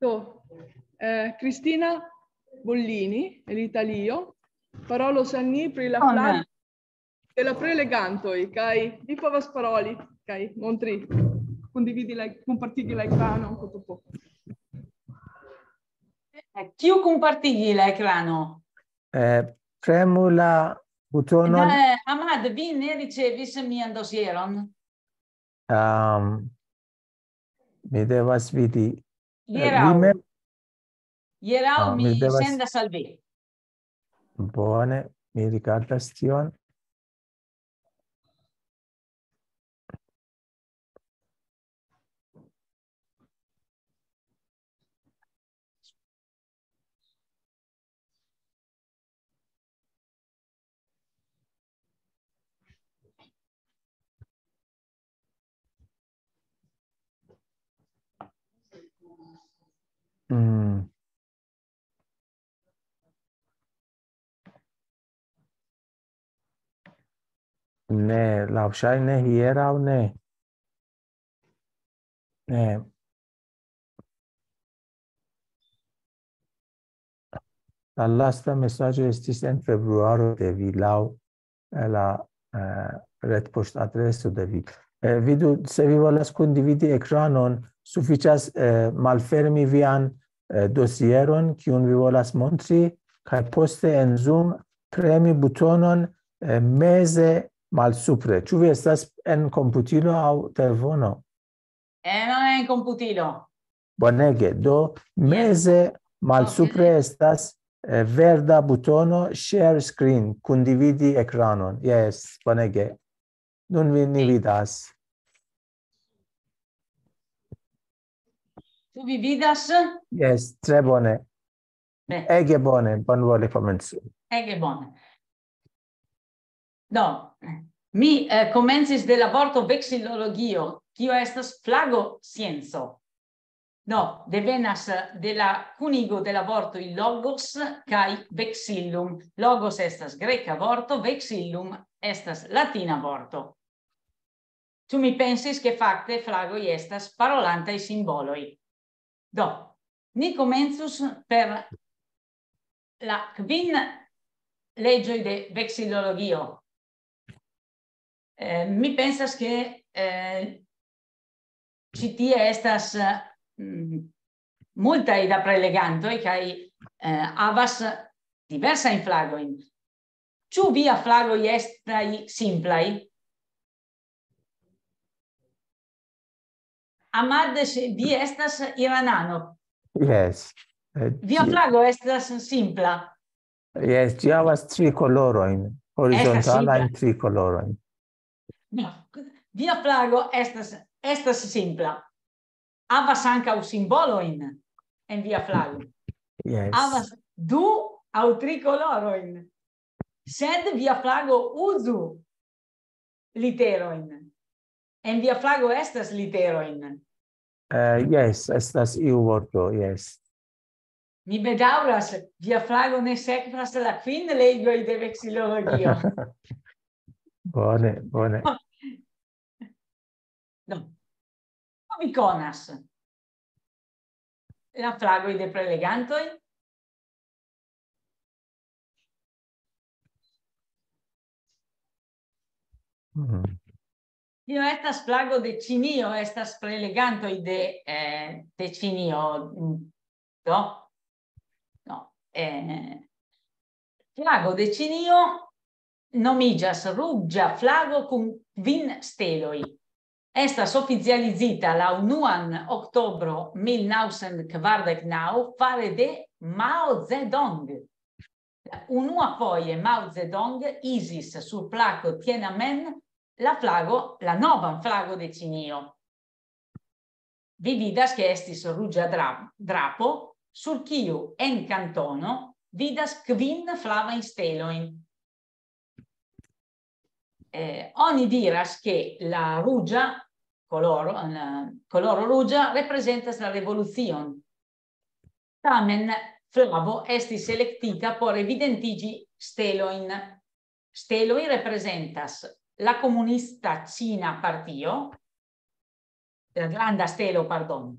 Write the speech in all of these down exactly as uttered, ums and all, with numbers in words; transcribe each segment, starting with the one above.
Do, eh, Cristina Bollini, el Italio, parolos al ni pri la flago de la prelegantoj, kaj vi povas paroli, kaj montri, kondividi la, kunpartigi la ekranon, kotopo. Kiu kunpartigi la ekrano? Eh, premu la butonon. Eh, Ahmad, vi ne ricevis mian dosieron? Um, mi devas vidi. Eh, Hieraŭ. vi mem- Hieraŭ Ah, mi mi devas- sendas al vi. Bone, mi rigardas tion. Mm. Ne, laŭŝajne hieraŭ ne. Ne. La lasta mesaĝo estis en februaro de vi laŭ eh, la eh, retpoŝtadreso de vi. Eh, vidu, se vi volas kondividi ekranon, sufiĉas eh, malfermi vian eh, dosieron, kiun vi volas montri, kaj poste en Zoom premi butonon eh, meze malsupre. Ĉu vi estas en komputilo aŭ telefono? Eh, non è in computilo. Bonege, do meze malsupre estas eh, verda butono share screen, kondividi ekranon. Yes, bonege. Nun vi ni vidas. Tu vi vidas? Yes, tre bone. Beh. Ege bone, bonvole komencu. Ege bone. Do, mi eh, komencis de la vorto vexillologio, kio estas flago scienco. Do, devenas eh, de la kunigo de la vortoj logos kaj vexillum. Logos estas greka vorto, vexillum estas latina vorto. Ĉu mi pensis, ke fakte flagoj estas parolantaj simboloj? Do, ni komencus per la kvin leĝoj de vexillologio. Eh, mi pensas, ke eh, ĉi tie estas mm, multaj da prelegantoj kaj eh, havas diversajn flagojn. Ĉu via flagoj estas simplaj? Ahmad, se vi estas iranano. Yes. Eh, Via ĝi- flago estas simpla. Yes, ĝi havas tri kolorojn, horizontalajn simpla. Tri kolorojn. No. Via flago estas, estas simpla. Havas ankaŭ simbolojn en via flago. Yes. Havas du aŭ tri kolorojn. Sed via flago uzu literojn. En via flago estas literojn. Eh, yes, estas iu vorto, yes. Mi bedaŭras, via flago ne sekvas la kvin leĝoj de vexillologio. Bone, bone. No. Ĉu vi konas la flagoj de prelegantoj? Mhm. Tio estas flago de Ĉinio, estas prelegantoj de, eh, de Ĉinio. Mm, Do? No. Eh, flago de Ĉinio nomiĝas ruĝa flago kun kvin steloj. Estas oficializita la unuan oktobro mil naŭcent kvardek naŭ fare de Mao Zedong. La unua foje Mao Zedong izis sur plako Tiananmen la flago, la novan flago de Ĉinio. Vi vidas, ke estis ruĝa dra-, drapo, sur kiu en kantono vidas kvin flavajn stelojn. Eh, oni diras, ke la ruĝa koloro, la koloro ruĝa reprezentas la revolucion. Tamen flavo estis elektita por evidentiĝi stelojn. Steloj reprezentas la komunista ĉina partio, la granda stelo, pardon,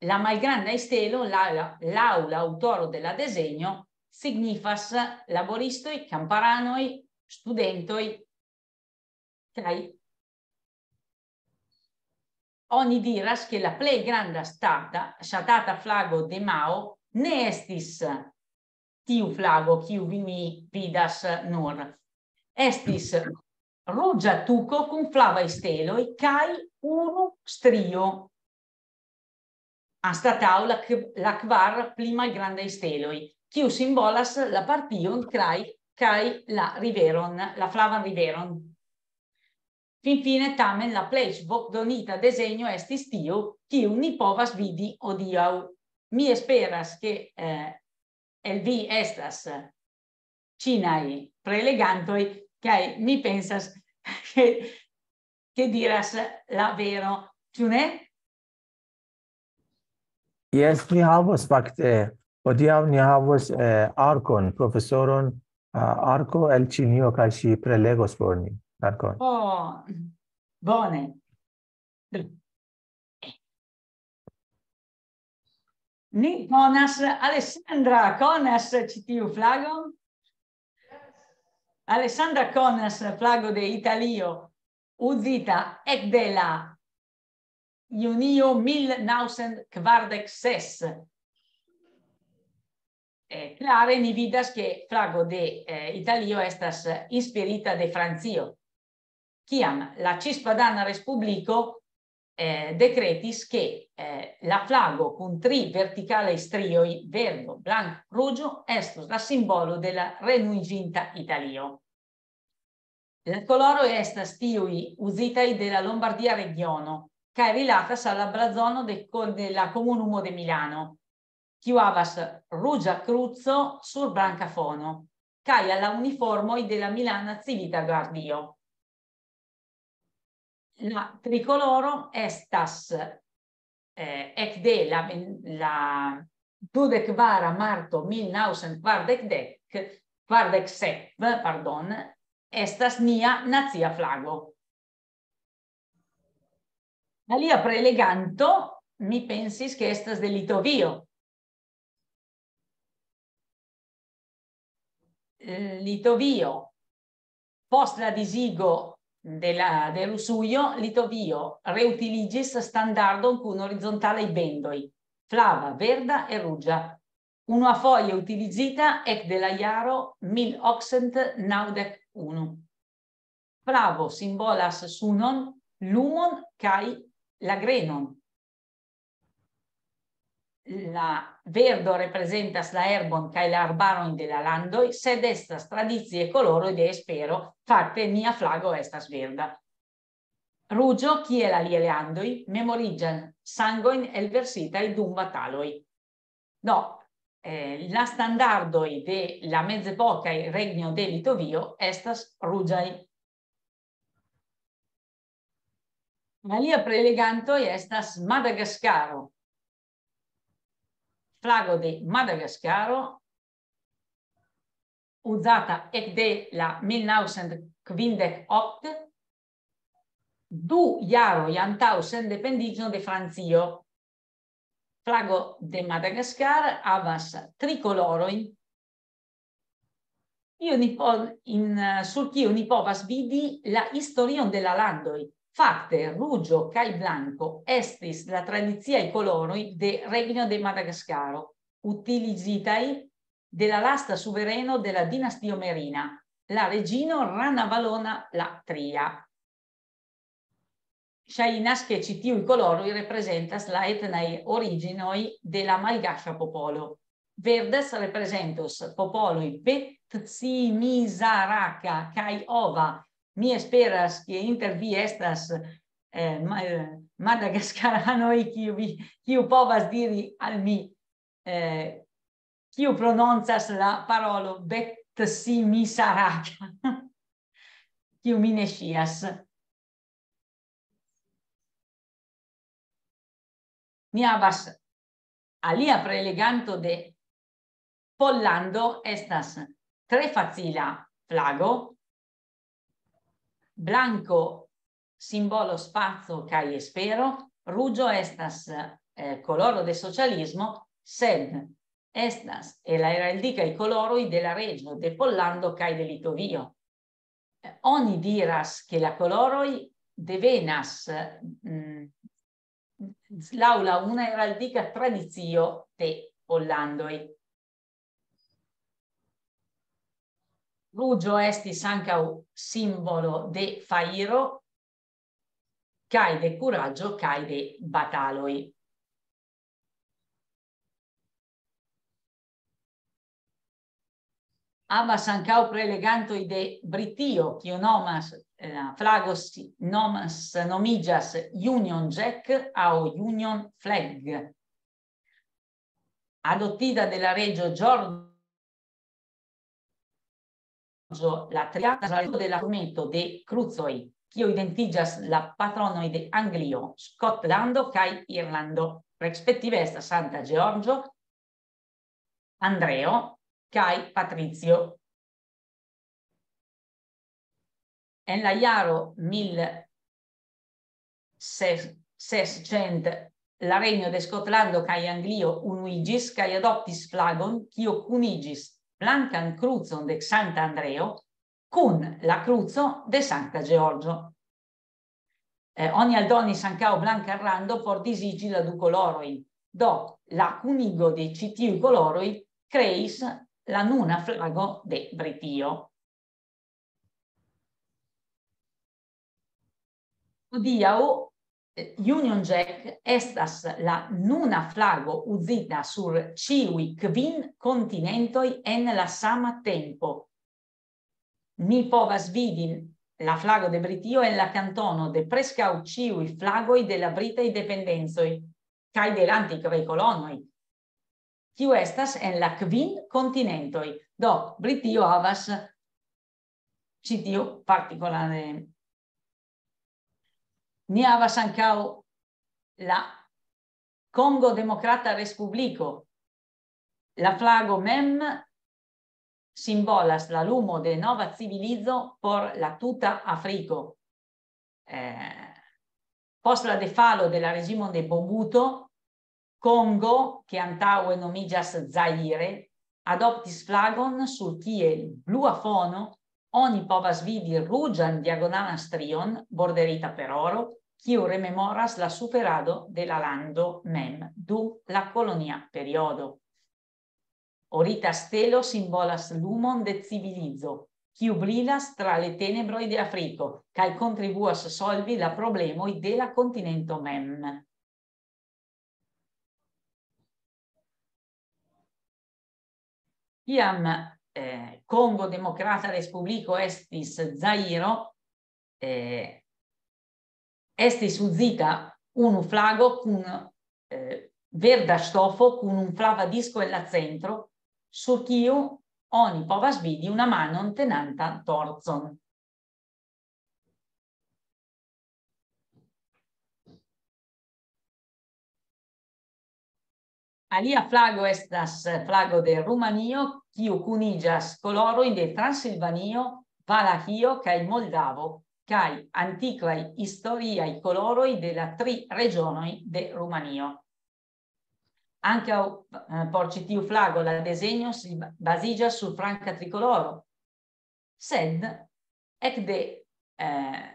La malgranda stelo, laŭ la, laŭ la aŭtoro de la desegno, signifas laboristoj, kamparanoj, studentoj, kaj oni diras, ke la plej granda ŝtata, ŝatata flago de Mao ne estis tiu flago, kiu vi mi vidas nur. Estis ruĝa tuko kun flavaj steloj kaj unu strio anstataŭ la, la kvar pli malgrandaj steloj, kiu simbolas la partion kraj kaj la riveron, la flavan riveron. Finfine, tamen, la plej voĉdonita desegno estis tiu, kiu ni povas vidi hodiaŭ. Mi esperas, ke eh, el vi estas ĉinaj prelegantoj, kaj mi pensas, ke, ke diras la vero, ĉu ne? Jes, ni havos fakte, hodiaŭ ni havos eh, Arkon, profesoron uh, Arko el Ĉinio, kaj ŝi prelegos por ni. Arkon. Oh, bone. Ni konas, Alessandra, konas ĉi tiu flagon? Alessandra konas flago de Italio, uzita ekde la junio mil naŭcent kvardek ses. Eh, klare ni vidas, ke flago de eh, Italio estas inspirita de Francio. Kiam la Cispadana Respubliko eh, dekretis, ke eh, la flago kun tri vertikalaj strioj, verdo, blank, ruĝo, estos la simbolo de la renuiĝinta Italio. La koloroj estas tiuj uzitaj de la Lombardia regiono, kaj rilatas al la blazono de, de la komunumo de Milano, kiu havas ruĝa kruco sur blanka fono, kaj al la uniformoj de la Milana Civita Guardio. La trikoloro estas eh, ekde la, la dudek kvara marto mil naŭcent kvardek dek, kvardek sep, pardon, estas nia nacia flago. Alia preleganto, mi pensis, ke estas de Litovio. Litovio, post la disigo de la de Rusujo, Litovio reutiliĝis standardon kun horizontalaj bendoj, flava, verda e ruĝa, unuafoje utilizita ekde la jaro mil okcent naŭdek unu. Flavo simbolas sunon, lumon kaj la grenon. La verdo reprezentas la herbon kaj la arbarojn de la landoj, sed estas tradicie koloroj de espero, fakte nia flago estas verda. Ruĝo, kiel aliaj landoj, memoriĝas sangojn elversitaj dum bataloj. Do, eh, la standardoj de la mezepokaj regno de Litovio estas ruĝaj. Alia prelegantoj estas Madagaskaro. Flago de Madagaskaro, uzata ekde la mil naŭcent kvindek ok, du jaroj antaŭ sendependiĝo de Francio. Flago de Madagaskar havas tri kolorojn, kiu ni po-, in, sur kiu ni povas vidi la historion de la landoj. Fakte, ruĝo kaj blanko estis la tradiciaj koloroj de Regno de Madagaskaro, utilizitaj de la lasta suvereno de la dinastio Merina, la reĝino Ranavalona la tria. Ŝajnas, ke ĉi tiuj koloroj reprezentas la etnaj originoj de la malgaŝa popolo. Verdas reprezentos popoloj Betsimizaraka kaj Ova. Mi esperas, ke inter vi estas eh, ma-, madagaskaranoj, kiu, vi, kiu povas diri al mi, eh, kiu prononcas la parolo Betsimizaraka, kiu mi ne ŝias. Ni havas alia preleganto de Pollando, estas tre facila flago. Blanko simbolo spaco kaj espero, ruĝo estas eh, koloro de socialismo, sed estas el la heraldikaj koloroj de la reĝo de Pollando kaj de Litovio. Eh, oni diras, ke la koloroj devenas, mm, laŭ la una heraldika tradicio de Pollandoj. Ruĝo estis ankaŭ simbolo de fajro kaj de kuraĝo kaj de bataloj. Havas ankaŭ prelegantoj de Britio, kio nomas, eh, la flago si-, nomas, nomiĝas Union Jack aŭ Union Flag. Adoptita de la reĝo George la tria, de la turneto de krucoj, kio identiĝas la patronoj de Anglio, Skotlando kaj Irlando, respektive estas Santa Georgio, Andreo kaj Patricio. En la jaro mil sescent, la regno de Skotlando kaj Anglio unuiĝis kaj adoptis flagon, kio kuniĝis blankan krucon de Sankta Andreo kun la kruco de Sankta Georgio. Eh, oni aldonis ankaŭ blankan rando por diziĝi la du kolorojn. Do, la kunigo de ĉi tiuj koloroj kreis la nuna flago de Britio. Hodiaŭ, eh, Union Jack estas la nuna flago uzita sur ĉiuj kvin kontinentoj en la sama tempo. Ni povas vidi la flago de Britio en la kantono de preskaŭ ĉiuj flagoj de la britaj dependencoj kaj de la antikvaj kolonoj, kiu estas en la kvin kontinentoj. Do, Britio havas ĉi tiu partikolare. Ni havas ankaŭ la Kongo Demokrata Respubliko. La flago mem simbolas la lumo de nova civilizo por la tuta Afriko. Eh, post la defalo de la reĝimo de Mobuto, Kongo, ke antaŭe nomiĝas Zaire, adoptis flagon, sur kiel blua fono oni povas vidi ruĝan diagonalan strion borderita per oro, kiu rememoras la suferado de la lando mem dum la kolonia periodo. Orita stelo simbolas lumon de civilizo, kiu brilas tra le tenebroj de Afriko kaj kontribuas solvi la problemoj de la kontinento mem. Kiam, eh, Kongo Demokrata Respubliko estis Zairo, eh, estis uzita unu flago kun, eh, verda ŝtofo kun un flava disko en la centro, sur kiu oni povas vidi una manon tenanta torcon. Alia flago estas flago de Rumanio, kiu kuniĝas kolorojn de Transilvanio, Valahio kaj Moldavo, kaj antikvaj historiaj koloroj de la tri reĝonoj de Rumanio. Ankaŭ, eh, por ĉi tiu flago la desenjo si ba-, baziĝas sur franka trikoloro. Sed ekde, eh,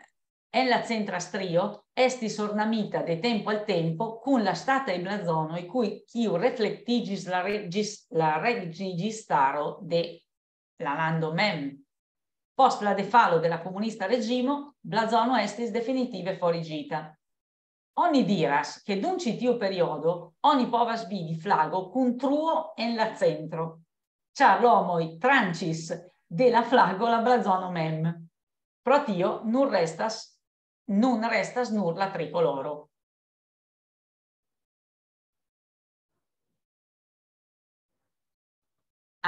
en la centra strio estis ornamita de tempo al tempo kun la ŝtataj blazonoj, kiu, kiu reflektiĝis la reĝis-, la reĝistaro de la lando mem. Post la defalo de la komunista reĝimo, blazono estis definitive foriĝita. Oni diras, ke dum ĉi tiu periodo oni povas vidi flago kun truo en la centro, ĉar la homoj tranĉis de la flago la blazono mem. Pro tio nur restas, nun restas nur la trikoloro.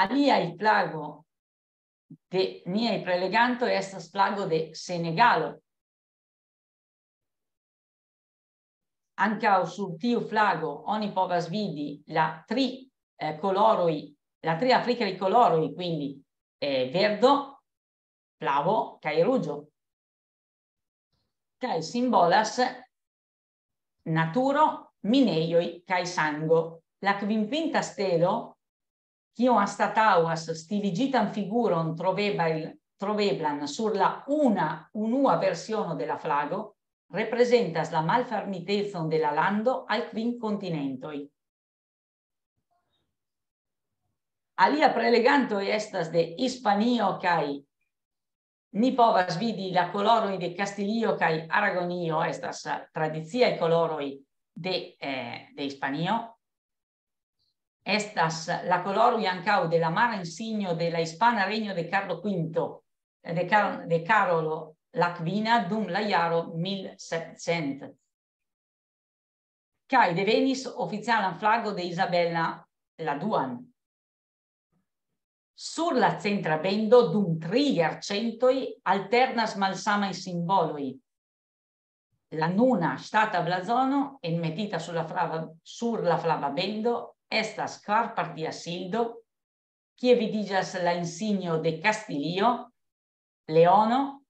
Aliaj flago de niaj prelegantoj estas flago de Senegalo. Ankaŭ sur tiu flago oni povas vidi la tri, eh, koloroj, la tri afrikaj koloroj, quindi, eh, verdo, flavo kaj ruĝo. Kaj simbolas naturo, minejoj kaj sango. La kvinpinta stelo, kiu anstataŭas stiligitan figuron trovebaj-, troveblan sur la una unua versiono de la flago, reprezentas la malfermitecon de la lando al kvin kontinentoj. Alia preleganto estas de Hispanio kaj ni povas vidi la koloroj de Kastilio kaj Aragonio, estas tradiciaj koloroj de, eh, de Hispanio. Estas la koloroj ankaŭ de la mara insigno de la Hispana Regno de Carlo Quinto, de Car-, de Karolo la Kvina dum la jaro mil sepcent. Kaj devenis oficialan flago de Isabela la Duan. Sur la centra bendo dum tri jarcentoj alternas malsamaj simboloj. La nuna ŝtata blazono enmetita sur la flava, sur la flava bendo estas kvarpartia sildo, kie vidiĝas la insigno de Kastilio, Leono,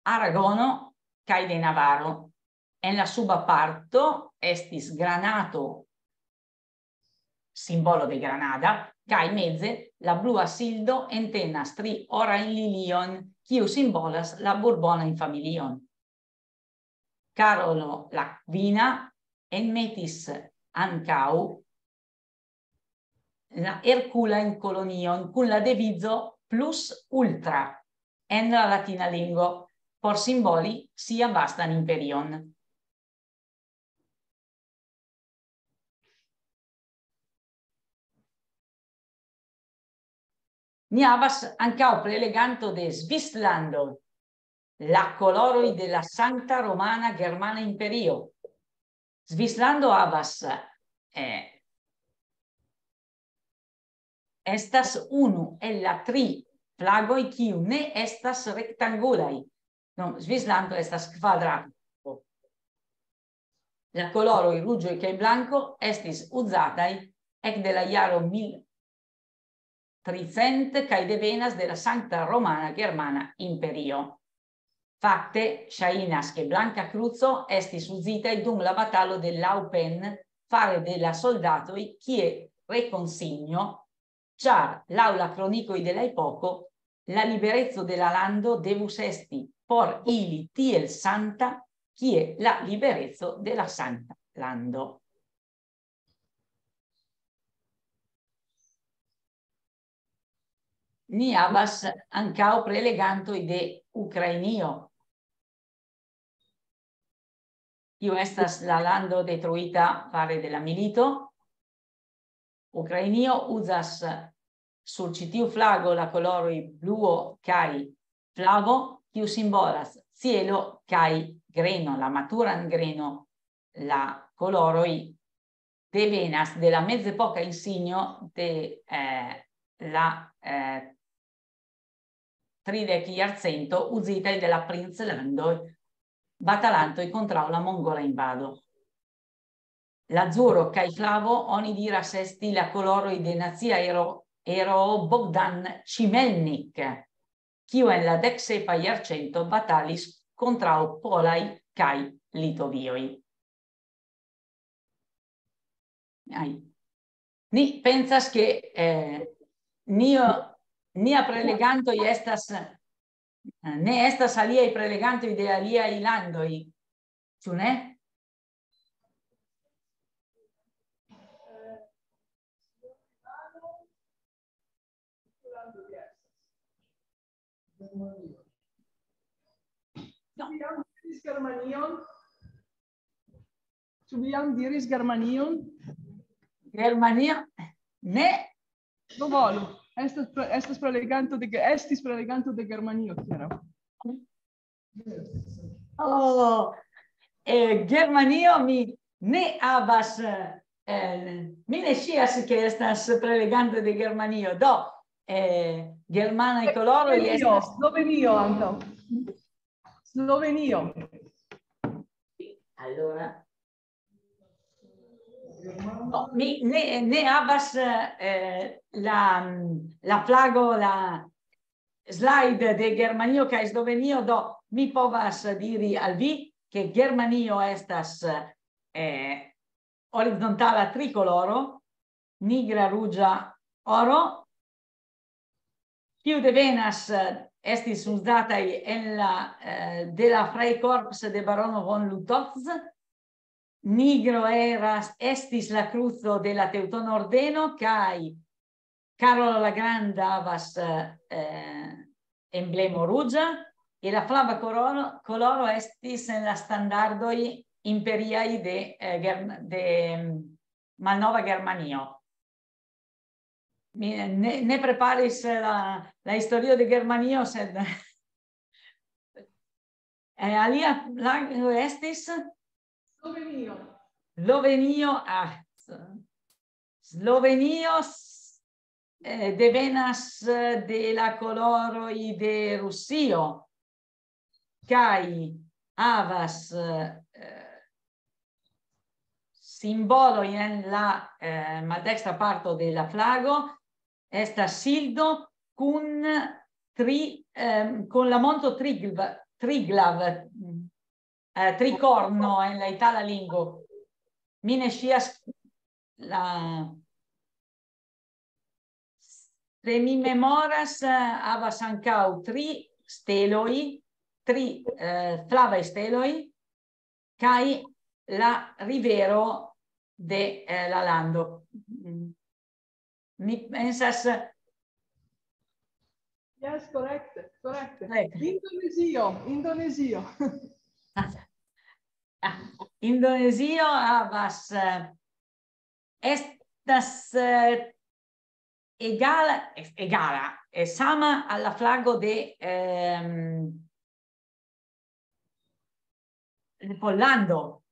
Aragono kaj de Navaro. En la suba parto estis granato, simbolo de Granada, kaj meze la blua sildo entenas tri orajn lilion, kiu simbolas la Borbonajn familion. Karolo la Kvina enmetis ankaŭ la Herkulajn kolonion kun la devizo plus ultra en la latina lingvo por simboli sian vastan imperion. Ni havas ankaŭ preleganto de Svislando, la koloroj de la Sankta Romana Germana Imperio. Svislando havas, eh, estas unu el la tri flagoj, kiu ne estas rektangulaj. No, Svislando estas kvadrato. La koloroj ruĝoj kaj blanko estis uzataj ekde la jaro mil tricent kaj devenas de la Sankta Romana Germana Imperio. Fakte, ŝajnas, ke blanka kruco estis uzitaj dum la batalo de Laupen fare de la soldatoj kie rekonsigno, ĉar laŭ la kronikoj de la epoko, la libereco de la lando devus esti por ili tiel santa, kie la libereco de la sankta lando. Ni havas ankaŭ prelegantoj de Ukrainio, kiu estas la lando detruita fare de la milito. Ukrainio uzas sur ĉi tiu flago la koloroj bluo kaj flavo, kiu simbolas cielo kaj greno, la maturan greno. La koloroj devenas de la mezepoka insigno de, eh, la, eh, tridek jarcento uzitaj de la princlandoj batalantoj kontraŭ la mongola invado. Lazuro kaj flavo oni diras esti la koloroj de nacia ero-, eroo Bogdan Ŝimelnik, kiu en la deksepa jarcento batalis kontraŭ polaj kaj litovioj. Ai. Ni pensas, ke, eh, nio, nia prelegantoj estas, eh, ne estas aliaj prelegantoj de aliaj landoj, ĉu ne? No. Ĉu vi jam diris Germanion? Germanio? Ne. Bonvolu. Estas pre-, estas preleganto de ge-, estis preleganto de Germanio, Kiara. Oh, eh, Germanio mi ne havas, eh, mi ne scias, ke estas preleganto de Germanio. Do, eh, germanaj koloroj Slovenio, estas Slovenio ankaŭ. Slovenio. Allora. No, mi ne, ne havas, eh, la, la flago, la slide de Germanio kaj Slovenio, do mi povas diri al vi, ke Germanio estas, eh, horizontala trikoloro, nigra, ruĝa, oro, kiu devenas, eh, estis uzataj en la, eh, de la Freikorps de barono von Lütolfs. Nigro eras, estis la kruco de la Teŭtona Ordeno, kaj Karolo la Granda havas, eh, emblemo ruĝa, e la flava koloro, koloro estis en la standardoj imperiaj de, eh, Germ-, de, mm, Malnova Germanio. Mi ne, ne preparis la, la historio de Germanio, sed, eh, alia flago estis Slovenio. Slovenio, ah, Slovenio s-, eh, devenas, eh, de la koloroj de Rusio, kaj havas, eh, simboloj en la, eh, maldekstra parto de la flago, estas sildo kun tri, ehm, kun la monto Trigl-, Triglav, eh, trikorno en la itala lingvo. Mi ne scias la, se mi memoras, eh, havas ankaŭ tri steloj, tri, eh, flavaj steloj, kaj la rivero de, eh, la lando. Mm. Mi pensas, Yes, correct, correct. Correct. Indonezio, Indonezio. Ah, Indonezio havas, eh, estas, eh, egala, es-, egala, eh, sama al la flago de, ehm, de Pollando.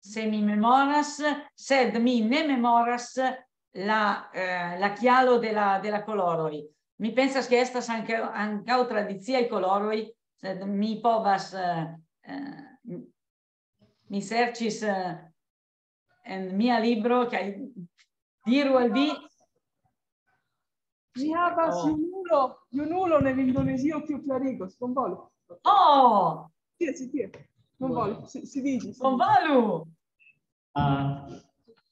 Se mi memoras, sed mi ne memoras la, eh, la kialo de la, de la koloroj. Mi pensas, ke estas ankaŭ, ankaŭ tradiciaj koloroj, sed mi povas, eh, eh, mi serĉis, eh, en mia libro, kaj diru al vi. Mi havas Oh. junulo, junulo en Indonezio, kiu klarigos. Bonvolu. Oh! Tie, si tie. Bonvolu, si, si vidis. Bonvolu! Ah,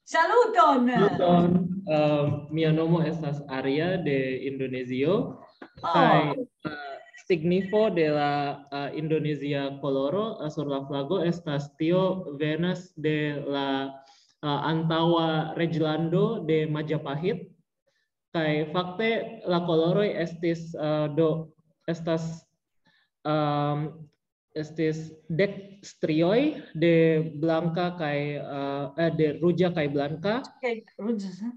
Saluton! Saluton. Ah, mia nomo estas Arya de Indonezio. Oh. Kaj, ah, signifo de la, ah, indonezia koloro, ah, sur la flago estas tio venas de la, ah, antaŭa reĝlando de Majapahit. Kaj fakte la koloroj estis, ah, do estas, ehm, estis dek strioj de blanka kaj, ah, eh, de ruĝa kaj blanka. Kaj ruĝa, eh?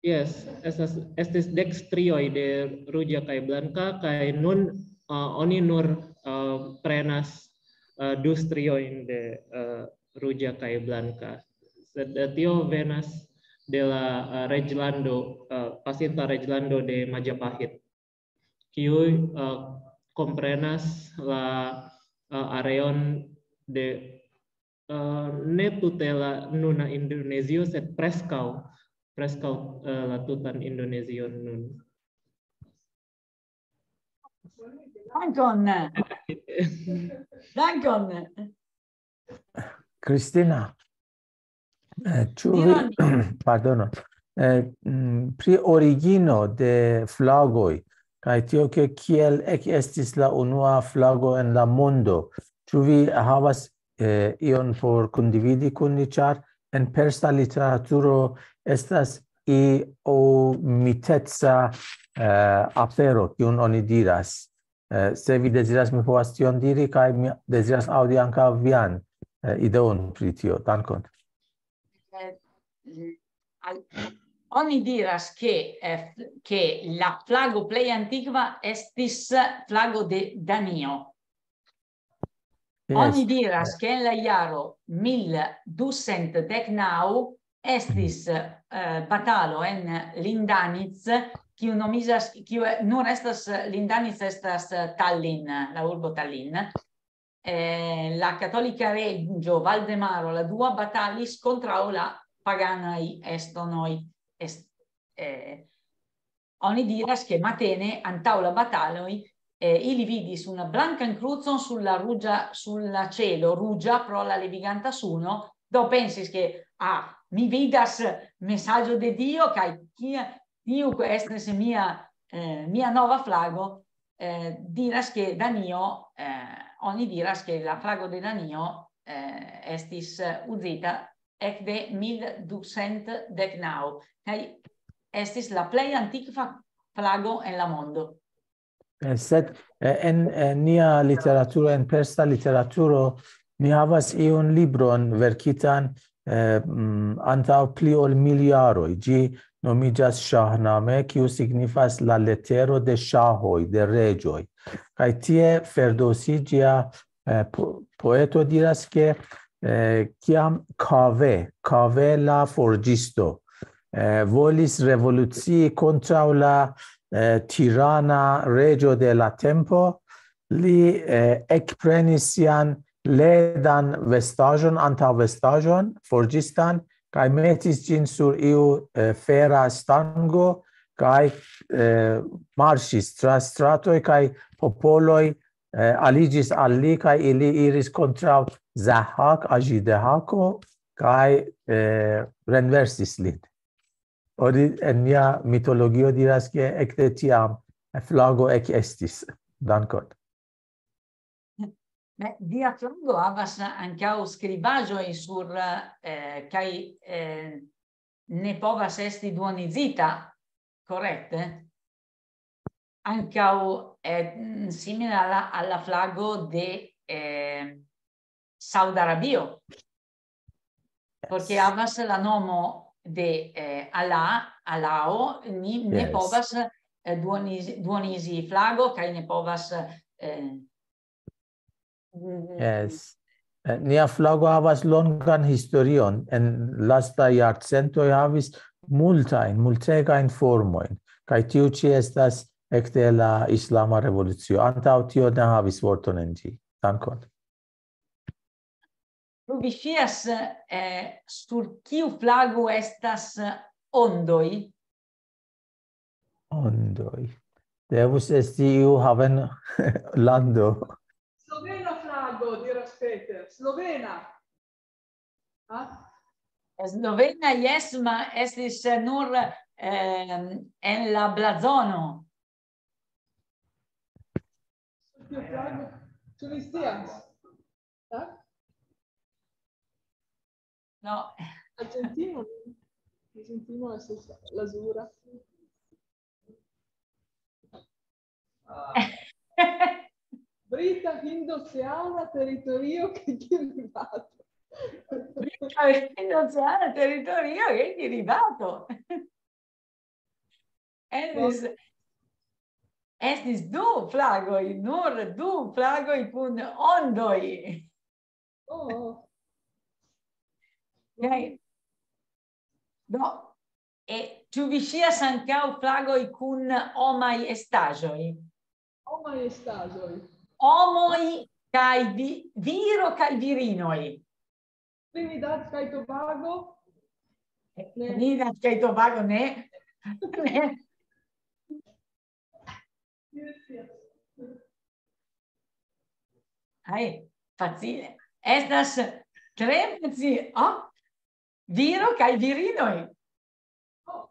Yes, estas, estis dek strioj de ruĝa kaj blanka, kaj nun, ah, oni nur, ah, prenas, ah, du striojn de, ah, ruĝa kaj blanka. Sed, eh, tio venas de la, ah, reĝlando, ah, pasinta reĝlando de Majapahit, kiuj, ah, komprenas la, ah, areon de, ah, ne tute la nuna Indonezio, sed preskaŭ, preskaŭ, ah, la tutan Indonezion nun. Dankon. Dankon. Cristina, eh, ĉu vi, Diru al mi. Pardono, eh, mm, pri origino de flagoj, kaj tio, ke kiel ekestis la unua flago en la mondo, ĉu vi havas, eh, ion por kondividi kun ni, ĉar en persa literaturo estas iomiteca, eh, afero, kiun oni diras. Eh, se vi deziras, mi povas tion diri, kaj mi deziras aŭdi ankaŭ vian, eh, ideon pri tio. Dankon. Eh, al-, oni diras, ke, eh, ke la flago plej antikva estis flago de Danio. Yes. Oni diras, ke en la jaro mil dusent dek naŭ estis, eh, batalo en Lindanic, kiu nomiĝas, kiu, eh, nur estas, eh, Lindanic estas, eh, Tallinn, la urbo Tallinn. Eh, la katolika reĝo Valdemaro la dua batalis kontraŭ la paganaj estonoj. Est-, eh, oni diras, ke matene antaŭ la bataloj eh, ili vidis una blankan krucon sur la ruĝa, sur la ĉelo ruĝa pro la leviganta suno, do pensis ke, ah, mi vidas mesaĝo de Dio, kaj kia, tiu estas mia, eh, mia nova flago, eh, diras ke Danio, eh, oni diras ke la flago de Danio, eh, estis, eh, uzita ekde mil ducent dek naŭ, kaj estis la plej antikva flago en la mondo. Eh, sed, eh, en, en nia literaturo, en persa literaturo, ni havas iun libron verkitan, eh, mm, antaŭ pli ol mil jaroj. Ĝi nomiĝas Ŝahname, kiu signifas la letero de ŝahoj, de reĝoj. Kaj tie Ferdowsi, ĝia, eh, po-, poeto, diras, ke, eh, kiam Kave, Kave la forĝisto, eh, volis revolucii kontraŭ la, eh, tirana reĝo de la tempo, li, eh, ekprenis sian ledan vestaĵon, antaŭvestaĵon, forĝistan, kaj metis ĝin sur iu, eh, fera stango, kaj, eh, marŝis tra stratoj, kaj popoloj, eh, aliĝis al li, kaj ili iris kontraŭ Zahak, Aĝi Dehako, kaj, eh, renversis lin. Oni en nia mitologio diras, ke ekde tiam flago ekestis. Dankon. Beh, via flago havas ankaŭ skribaĵoj sur, eh, kaj, eh, ne povas esti duonizita, korekte? Ankaŭ, eh, simila al la, al la flago de, eh, Saud Arabio. Porque havas la nomo de, eh, Allah, Alao, ni ne Yes. povas, eh, duonizi, duonizi flago, kaj ne povas, eh, mm, Yes. Eh, nia flago havas longan historion. En lasta jarcentoj havis multajn, multegajn formojn. Kaj tiu ĉi estas ekde la Islama Revolucio. Antaŭ tio ne havis vorton en ĝi. Dankon. Ĉu vi scias, eh, sur kiu flago estas ondoj? Ondoj. Devus esti iu haven lando. Slovena flago, diras Peter. Slovena. Ah? Slovena, jes, ma estis nur, ehm, en la blazono. Sur kiu flago? Ĉu vi scias? Ah? No. Argentino. Argentino estas lazura. Brita Hindoceana teritorio che Kiribati. Brita Hindoceana teritorio che Kiribati. Estis, estis du flagoj, nur du flagoj kun ondoj. Oh. Kaj, do, e, ĉu vi scias ankaŭ flagoj kun homaj estaĵoj? Homaj estaĵoj. Homoj kaj vi-, viro kaj virinoj. Trinidad kaj Tobago? Ne. Trinidad kaj Tobago, ne. Ne. Yes, yes. Ai, facile. Estas tre facile. Oh, viro kaj virinoj. Oh.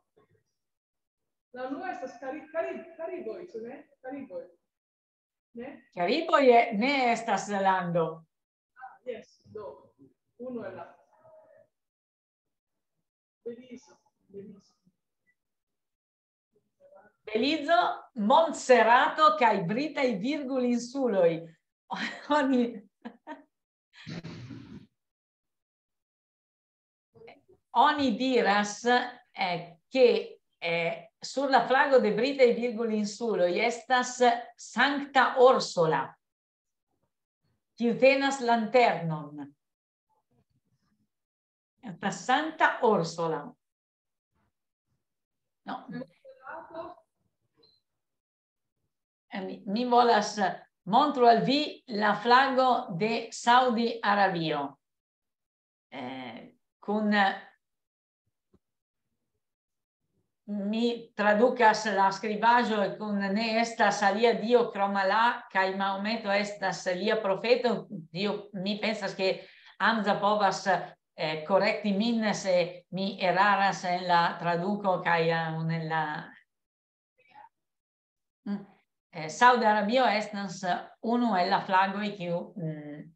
La unua estas Kari-, Kari-, Kariboj, ĉu ne? Kariboj. Ne? Kariboj e-, ne estas lando. Ah, yes, do. Uno el la. Belizo, Belizo. Belizo, Montserato kaj Britaj Virgulinsuloj. Oni, oni diras, eh, ke, eh, sur la flago de Britaj Virgulinsuloj estas Sankta Orsola, kiu tenas lanternon. Estas Sankta Orsola. No. Eh, mi, mi volas, eh, montru al vi la flago de Saudi Arabio. Eh, kun, eh, mi tradukas la skribaĵo kun "Ne estas alia dio krom Allah", kaj Mahometo estas lia profeto. Dio, mi pensas, ke Hamza povas, eh, korekti min, se mi eraras en la traduko kaj, eh, en la... Mm. Eh, Saudi Arabio estas unu el la flagoj kiu, mm,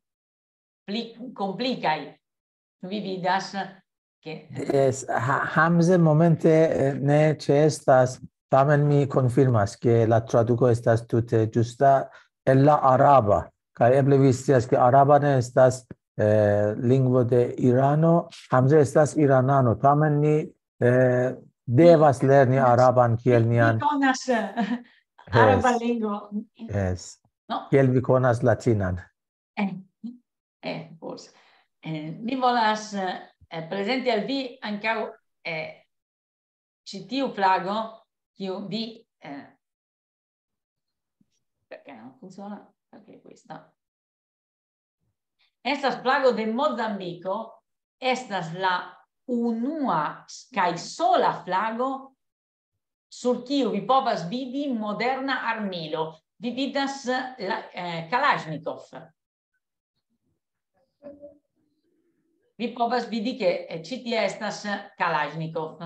pli komplikaj. Vi vidas, ke... Yes, ha, Hamze momente, eh, ne ĉeestas, tamen mi konfirmas, ke la traduko estas tute ĝusta el la araba. Kaj eble vi scias, ke araba ne estas, eh, lingvo de Irano, Hamze estas iranano, tamen ni, eh, devas lerni araban kiel nian... Konas araba lingvo. Yes. No. Kiel vi konas latinan? Eh, eh, forse. Eh, mi volas, eh, prezenti al vi ankaŭ, eh, ĉi tiu flago, kiu vi, eh, perché non funziona? Perché questa... Estas flago de Mozambiko, estas la unua s-, kaj sola flago sur kiu vi povas vidi moderna armilo. Vi vidas la, eh, Kalashnikov. Vi povas vidi, ke, eh, ĉi tie estas Kalashnikov,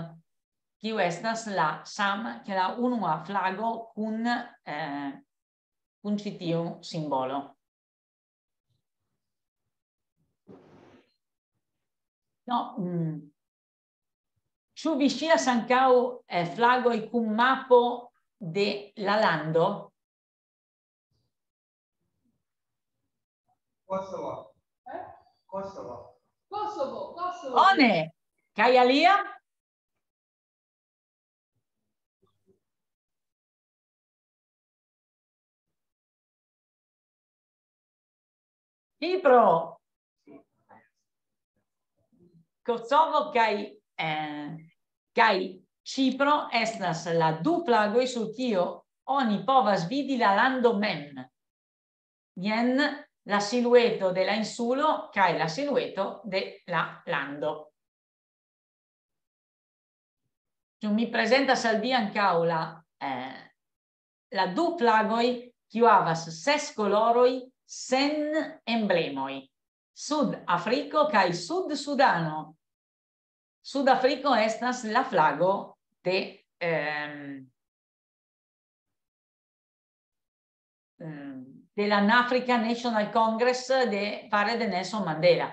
kiu estas la sama, ke la unua flago kun, eh, kun ĉi tiu simbolo. No, mm. Ĉu vi scias ankaŭ, eh, flagoj kun mapo de la lando? Kosovo. Eh? Kosovo. Kosovo, Kosovo. Bone. Kaj alia? Cipro. Kosovo kaj, eh, kaj Cipro estas la du flagoj sur kio oni povas vidi la lando mem. Jen la silueto de la insulo kaj la silueto de la lando. Ĉu mi prezentas al vi ankaŭ la, eh, la du flagoj, kiu havas ses koloroj sen emblemoj? Sud-Afriko kaj Sud-Sudano. Sud-Afriko estas la flago de, ehm, ehm, de la African National Congress de, fare de Nelson Mandela.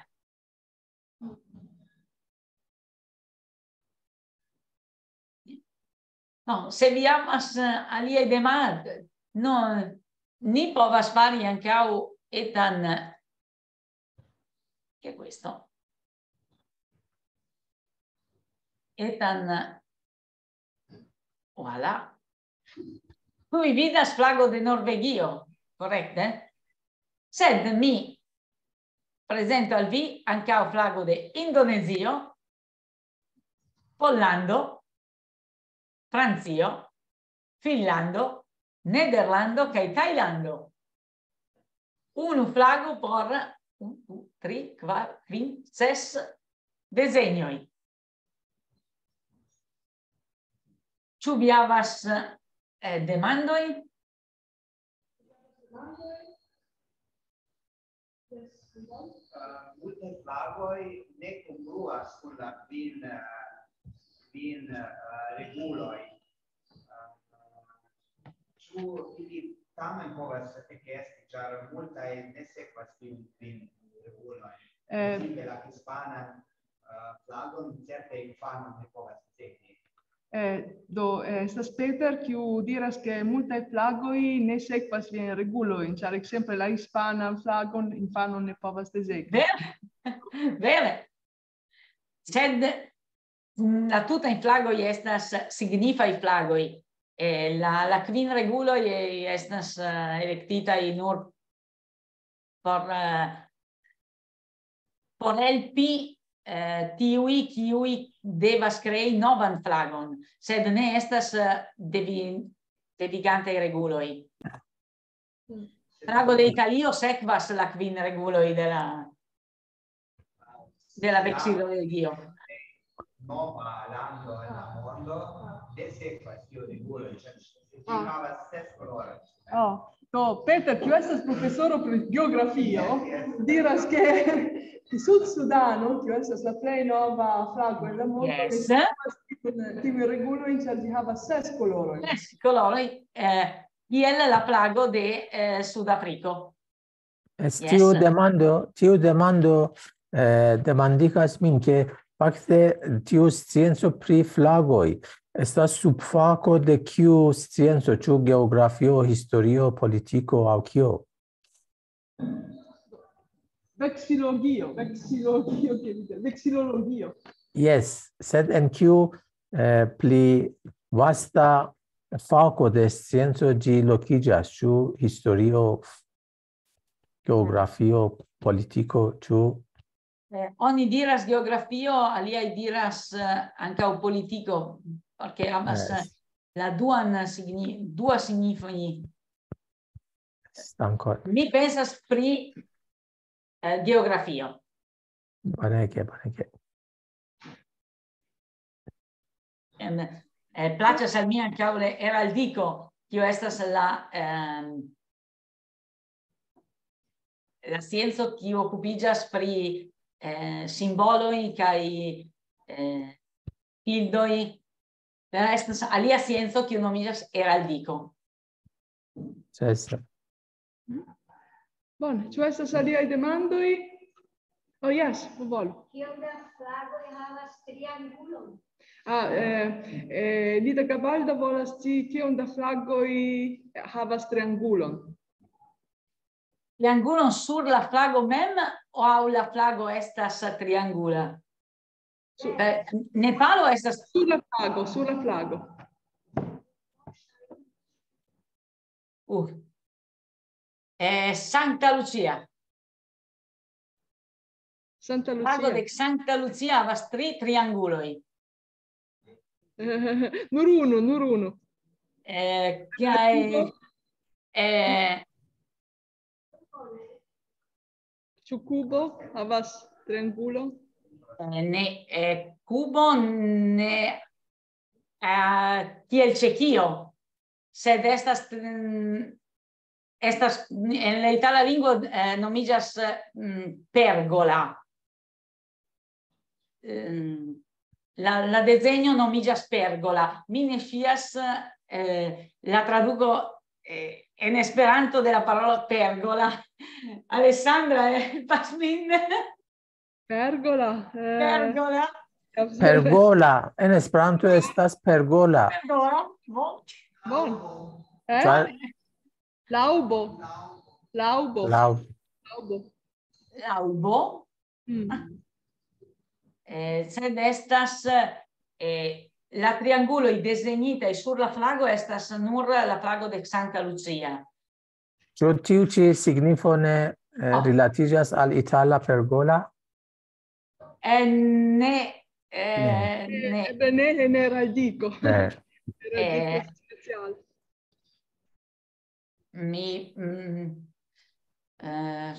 No, se vi havas, eh, aliaj demandoj, no, ni povas fari ankaŭ etan, che è questo? Etan, voilà. Ĉu vi vidas flago de Norvegio, korekte? Sed mi prezento al vi ankaŭ flago de Indonezio, Pollando, Francio, Finnlando, Nederlando kaj Tajlando. Unu flago por unu, du, tri, kvar, kvin, ses desegnoj. Ĉu vi havas, eh, demandoj? Eh, multaj flagoj ne kongruas kun la kvin, eh, kvin, eh, reguloj. Eh, ĉu ili tamen povas ekesti, ĉar multaj ne sekvas tiun kvin regulojn? Eh, Ekzemple la hispanan, eh, flagon certe infano ne povas ricevi. Eh, do, eh, estas Peter, kiu diras, ke multaj flagoj ne sekvas viajn regulojn, ĉar ekzemple la hispanan flagon infano ne povas desegni. Vere, vere. Sed, mm, la tutaj flagoj estas signifaj flagoj. Eh, la, la kvin reguloj, eh, estas, eh, elektitaj nur por, eh, por helpi, eh, tiuj, kiuj devas krei novan flagon, sed ne estas, eh, devi-, devigantaj reguloj. Flago de Italio sekvas la kvin reguloj de la, de la veksilolegio. Nova lando en la mondo. Oh. Do, Peter, kiu estas profesoro pri geografio, diras, ke Sud-Sudano, kiu estas la plej nova flago en la mondo, yes, ne havas tiun, tiun regulon, ĉar ĝi havas ses kolorojn. Ses koloroj, eh, kiel la flago de, eh, Sudafriko. Yes. Tiu demando, tiu demando, eh, demandigas min, ke fakte tiu scienco pri flagoj estas subfako de kiu scienco, ĉu geografio, historio, politiko aŭ kio? Veksilologio, veksilologio, ke vi diras, veksilologio. Yes, sed en kiu, eh, pli vasta fako de scienco ĝi lokiĝas, ĉu historio, geografio, politiko, ĉu? Eh, oni diras geografio, aliaj diras, eh, ankaŭ politiko, porque havas, eh, la duan signi-, dua signifoj. Dankon. Mi pensas pri, eh, geografio. Bonege, bonege. Em, eh, plaĉas al mi ankaŭ la heraldiko, kio estas la, em, la scienco, kiu okupiĝas pri, eh, simboloj kaj, eh, bildoj. Estas alia scienco, kiu nomiĝas heraldiko. Yes. Bone, ĉu estas aliaj demandoj? Oh, yes, volu. Kiom da flagoj havas triangulon? Ah, eh, eh, Lida Gabalda volas scii, kiom da flagoj havas triangulon. Triangulon sur la flago mem, aŭ la flago estas triangula? Su- Eh, Nepalo estas sur la flago, sur la flago. Uh. Eh, Santa Lucia. Santa Lucia. Flago de Santa Lucia havas tri trianguloj. Nur unu, nur unu. Eh, kaj, eh, Ĉu kubo havas triangulo? Eh, ne, eh, kubo ne, eh, kiel Ĉeĥio, sed estas, mm, estas, en la itala lingvo, eh, nomiĝas, mm, pergola. Ehm, la, la dezegno nomiĝas pergola. Mi ne scias, eh, la traduko, eh, en Esperanto de la parolo pergola. Alessandra, eh, helpas min. Pergola, eh, Pergola. Pergola. En Esperanto estas pergola. Pergola, bon. Bon. Eh? Ĉar Laŭbo. Laŭbo. Laŭ- Laŭbo. Laŭbo. Mm. Eh, sed estas, eh, la trianguloj dezegnitaj sur la flago estas nur la flago de Santa Lucia. Ĉu tiu ĉi signifo ne, eh, Ah. rilatiĝas al itala pergola? Eh, ne, eh, Ne. Ne. Eble ne en heraldiko. Ne. Heraldiko Eh. speciale. Mi, mm, eh,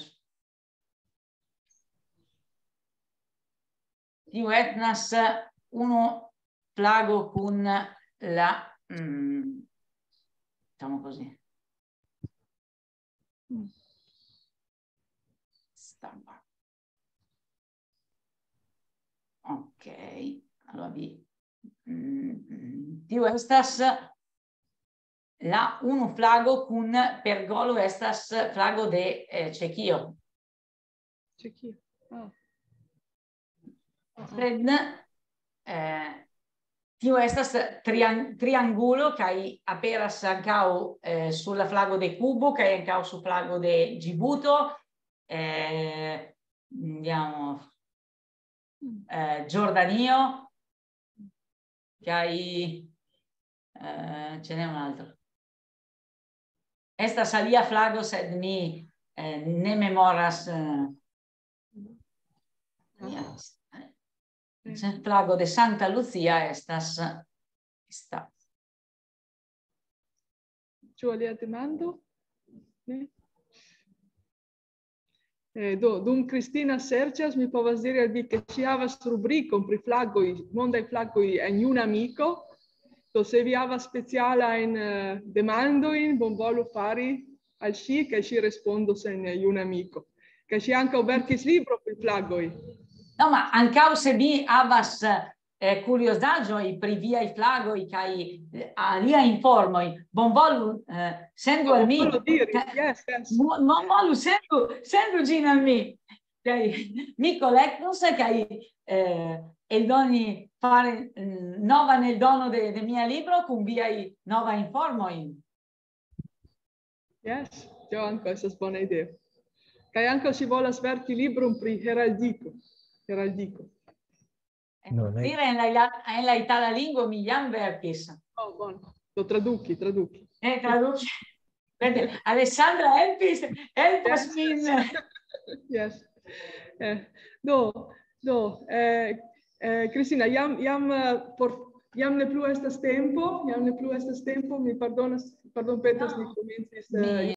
tiu estas unu flago kun la, mm, diciamo così. Stampa. Ok, allora vi, mm, mm, tiu estas la unu flago kun pergolo estas flago de, eh, Ĉeĥio. Ĉeĥio. Ah. Sed, eh, tio estas trian-, triangulo kaj aperas ankaŭ, eh, sur la flago de Kubo kaj ankaŭ sur flago de Ĝibuto, eh, andiamo, eh, Giordanio, kaj, eh, ce n'è un altro. Estas alia flago, sed mi, eh, ne memoras, eh, yes. Sen flago de Santa Lucia estas sta. Ĉu alia demando? Ne? Eh, do, dum Cristina serĉas, mi povas diri al vi, ke ŝi havas rubrikon pri flagoj, mondaj flagoj en Juna Amiko. Do, se vi havas specialajn eh, demandojn, bonvolu fari al ŝi, kaj ŝi respondos en eh, juna amiko. Kaj ŝi ankaŭ verkis libro pri flagoj. No, ma ankaŭ se vi havas eh, kuriozaĵoj pri viaj flagoj kaj eh, aliaj informoj, bonvolu eh, sendu al mi. Bonvolu diri. Yes, yes. Bonvolu sendu, sendu ĝin al mi. Kaj mi kolektos kaj eh, eldoni fari mm, novan eldono de, de mia libro kun viaj novaj informoj. Yes, tio ankaŭ estas bona ideo. Kaj ankaŭ ŝi volas verki libron pri heraldiko. Heraldiko. Dire en la, en la itala lingvo mi jam verkis. Oh, bon. Do traduki, traduki. Eh, traduki. Alessandra helpis, helpas min. Yes. Eh, do, do, eh, eh, Cristina, jam, jam, eh, por, jam ne plu estas tempo, jam ne plu estas tempo, mi pardonas, pardon petas, mi komencis. Eh,